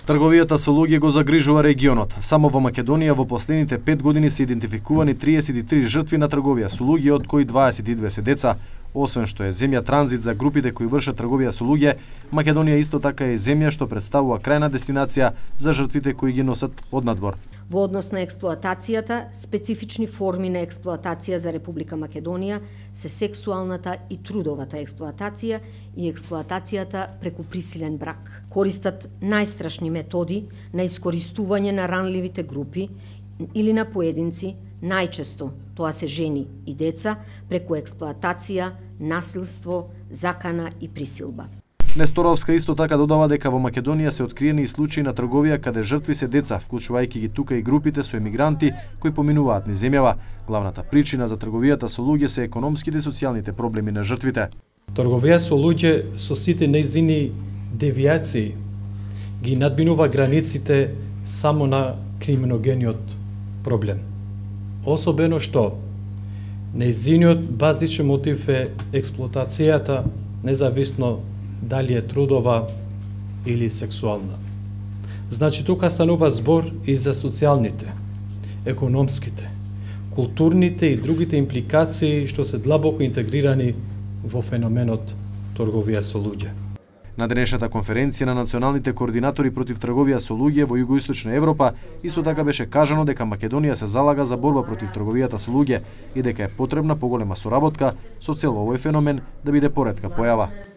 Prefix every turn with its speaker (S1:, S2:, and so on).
S1: Трговијата со луѓе го загрижува регионот. Само во Македонија во последните 5 години се идентификувани 33 жртви на трговија со луѓе, од кои 22 се деца. Освен што е земја транзит за групите кои вршат трговија со луѓе, Македонија исто така е земја што представува крајна дестинација за жртвите кои ги носат од надвор.
S2: Во однос на експлоатацијата, специфични форми на експлоатација за Република Македонија се сексуалната и трудовата експлоатација и експлоатацијата преку присилен брак. Користат најстрашни методи на искористување на ранливите групи или на поединци, најчесто тоа се жени и деца, преку експлоатација, насилство, закана и присилба.
S1: Несторовска исто така додава дека во Македонија се откриени и случаи на трговија каде жртви се деца, вклучувајќи ги тука и групите со емигранти кои поминуваат низ земјава. Главната причина за трговијата со луѓе се економските и социјалните проблеми на жртвите.
S3: Трговија со луѓе со сите нејзини девијации ги надминува границите само на криминогениот проблем. Особено што нејзиниот базичен мотив е експлоатацијата, независно дали е трудова или сексуална. Значи, тука станува збор и за социјалните, економските, културните и другите импликации што се длабоко интегрирани во феноменот трговија со луѓе.
S1: На денешната конференција на националните координатори против трговија со луѓе во Југоисточна Европа исто така беше кажано дека Македонија се залага за борба против трговијата со луѓе и дека е потребна поголема соработка со цел овој феномен да биде поретка појава.